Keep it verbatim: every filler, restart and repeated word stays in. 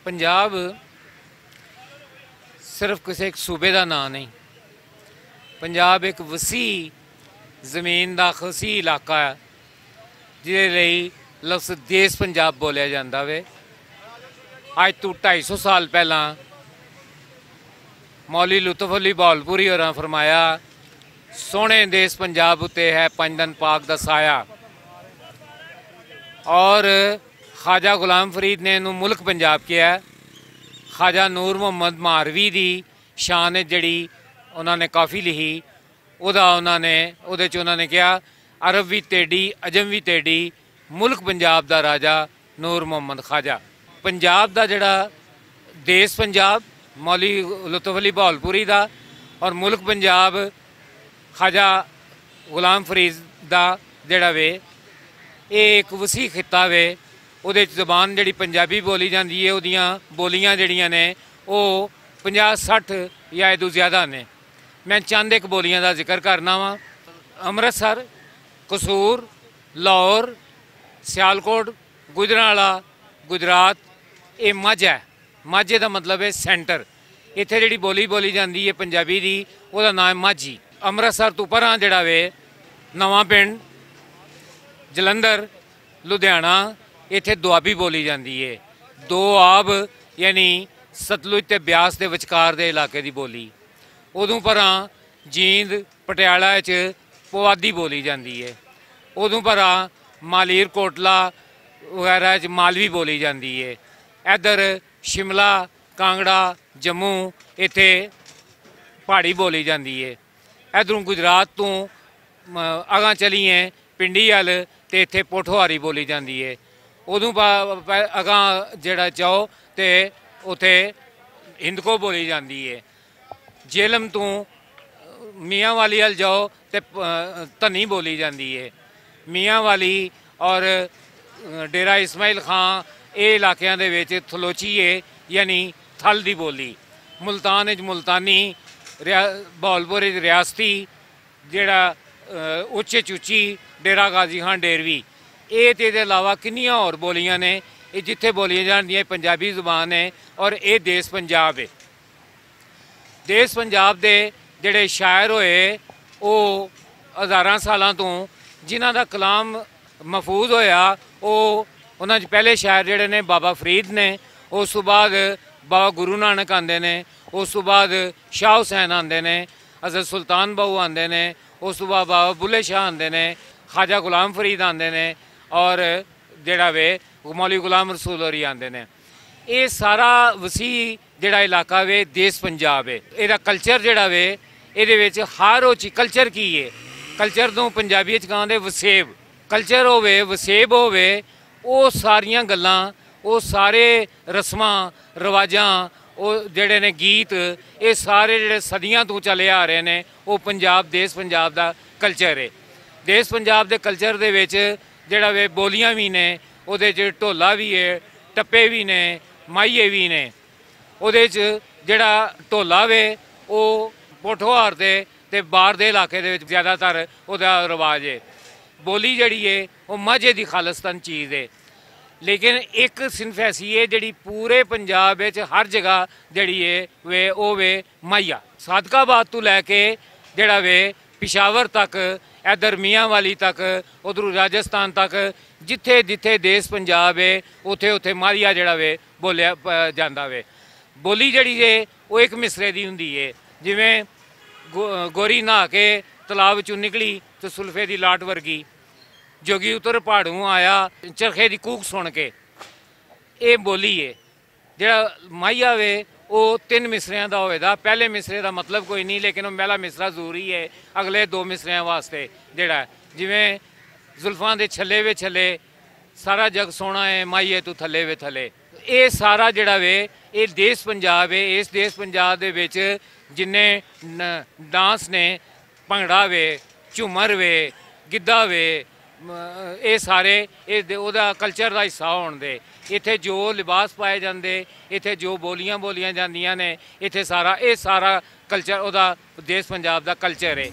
پنجاب صرف کسی ایک صوبے دا ناں نہیں۔ پنجاب ایک وسیع زمین دا وسیع علاقہ ہے، جس لئی لفظ دیس پنجاب بولیا جاندا وے۔ اج تو ڈھائی سو سال پہلاں مولوی لطف علی بہولپوری ہوراں فرمایا، "سوہنے دیس پنجاب اتے ہے پنج دن پاک دا سایہ۔" اور خواجہ غلام فرید نے اینوں ملک پنجاب کہیا۔ خواجہ نور محمد ماروی دی شان وچ جڑی انہاں نے کافی لکھی، اودا انہاں نے، اودے چ انہاں نے کہیا، "عرب وی تیڈی، عجم وی تیڈی، ملک پنجاب دا راجہ نور محمد خواجہ۔" پنجاب دا جڑا دیس پنجاب، مولوی لطف علی بہولپوری دا، اور ملک پنجاب خواجہ غلام فرید دا جڑا وے، اے ایک وسیع خطہ وے۔ اودے وچ زبان جڑی پنجابی بولی جاندی ہے، اودیاں بولیاں جڑیاں نے، او پنجاہ سٹھ یا ادوں زیادہ نے۔ میں چند ایک بولیاں دا ذکر کرنا واں۔ امرتسر، قصور، لاہور، سیالکوٹ، گجرانوالہ، گجرات، اے مجھ ہے۔ ماجھے دا مطلب ہے سینٹر۔ ایتھے جڑی بولی بولی جاندی ہے پنجابی دی، او دا ناں ہے ماجھی۔ امرتسر تو پراں جڑا وے، نواں پنڈ، جلندر، لدھیانہ، ایتھے دوابی بولی جاندی ہے۔ دو آب، یعنی ستلج تے بیاس دے وچکار دے علاقے دی بولی۔ ادوں پراں جیند، پٹیالہ وچ پوادی بولی جاندی ہے۔ ادوں پراں مالیر کوٹلا وغیرہ وچ مالوی بولی جاندی ہے۔ ادھر شملہ، کانگڑا، جموں، ایتھے پہاڑی بولی جاندی ہے۔ ادھروں گجرات توں، م، اگاں چلیے پنڈی ال، تے ایتھے پوٹھواری بولی جاندی ہے۔ ادوں با-، با-، اگاں جڑا جاؤ تے اتھے ہندکو بولی جاندی ہے۔ جہلم توں میاں والی ال جاؤ تے، ا، دھنی بولی جاندی ہے۔ میاں والی اور، ا، ڈیرہ اسماعیل خان، اے علاقیاں دے وچ تھلوچی ہے، یعنی تھل دی بولی۔ ملتان وچ ملتانی، ریا-، بہاولپور وچ ریاستی، جڑا، ا، اچے چوچی، ڈیرہ غازی خان ڈیروی، اے تے دے علاوہ کنیاں ہور بولیاں نے، اے جتھے بولیاں جان دیاں، پنجابی زبان ہے اور اے دیس پنجاب ہے۔ دیس پنجاب دے جڑے شاعر ہوئے، او ہزاراں سالاں توں جنہاں دا کلام محفوظ ہویا، او انہاں چ پہلے شاعر جڑے نے بابا فرید نے، اس تو بعد بابا گرو نانک آندے نے، اس تو بعد شاہ حسین آندے نے، حضرت سلطان باہو آندے نے، اس تو بعد بابا بلے شاہ آندے نے، خواجہ غلام فرید آندے نے، اور جڑا وے مولوی غلام رسول ہوری آندے نے۔ اے سارا وسیع جڑا علاقہ وے، دیس پنجاب ہے۔ اے دا کلچر جڑا وے، اے دے وچ ہر او چی-، کلچر کی ہے؟ کلچر نوں پنجابی وچ کہندے وسیب۔ کلچر ہووے، وسیب ہووے، او ساریاں گلاں، او سارے رسماں، رواجاں، او جڑے نے گیت، اے سارے جڑے صدیاں توں چلے آ رہے نے، او پنجاب، دیس پنجاب دا کلچر ہے۔ دیس پنجاب دے کلچر دے وچ جڑا وے بولیاں وی نے، او دے وچ ڈھولا وی ہے، ٹپے وی نے، ماہیے وی نے۔ اودے وچ جڑا ڈھولا وے، او پوٹھوہار دے تے باہر دے علاقے دے وچ زیادہ تر اودا رواج ہے۔ بولی جڑی ہے، او ماجھے دی خالصتاً چیز ہے۔ لیکن ایک صنف ایسی ہے جڑی پورے پنجاب وچ ہر جگہ جڑی ہے وے، او وے ماہیا۔ صادق آباد تو لے کے جڑا وے پشاور تک، ادھر میاں والی تک، ادھر راجستھان تک، جتھے جتھے دیس پنجاب ہے، اتھے اتھے ماہیا جڑا وے بولیا پ-، جاندا وے۔ بولی جڑی ہے، او ایک مصرے دی ہوندی ہے۔ جویں گو-، گوری نہا کے تلاو چوں نکلی تے سلفے دی لاٹ ورگی، جوگی اتر پہاڑوں آیا، چرخے دی کوک سن کے۔ اے بولی ہے۔ جڑا ماہیا وے، او تن مصریاں دا ہوئے دا۔ پہلے مصرے دا مطلب کوئی نہیں، لیکن او پہلا مصرا ضروری ہے اگلے دو مصریاں واسطے۔ جڑا جویں زلفاں دے چھلے وے چھلے، سارا جگ سونا ہے، ماہیے تو تھلے وے تھلے۔ اے سارا جڑا وے، اے دیس پنجاب ہے۔ اس دیس پنجاب دے وچ جنہیں ن-، ڈانس نے، بھنگڑا وے، جھومر وے، گدا وے، م-، اے سارے اے دے-، اودا کلچر دا حصہ ہون دے۔ ایتھے جو لباس پائے جاندے، ایتھے جو بولیاں بولیاں جاندیاں نے، ایتھے سارا، اے سارا کلچر اودا، دیس پنجاب دا کلچر ہے۔